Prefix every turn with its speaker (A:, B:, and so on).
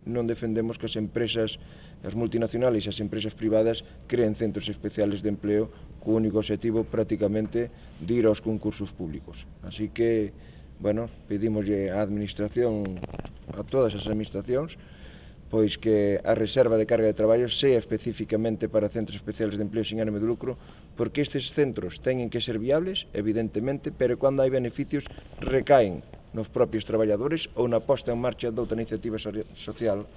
A: non defendemos que as empresas, as multinacionales e as empresas privadas creen centros especiales de empleo co único objetivo prácticamente de ir aos concursos públicos. Así que, bueno, pedimoslle á administración, a todas as administracións, pois que a reserva de carga de traballo sea especificamente para centros especiales de empleo sin ánimo de lucro, porque estes centros teñen que ser viables, evidentemente, pero cando hai beneficios recaen nos propios traballadores ou na posta en marcha doutra iniciativa social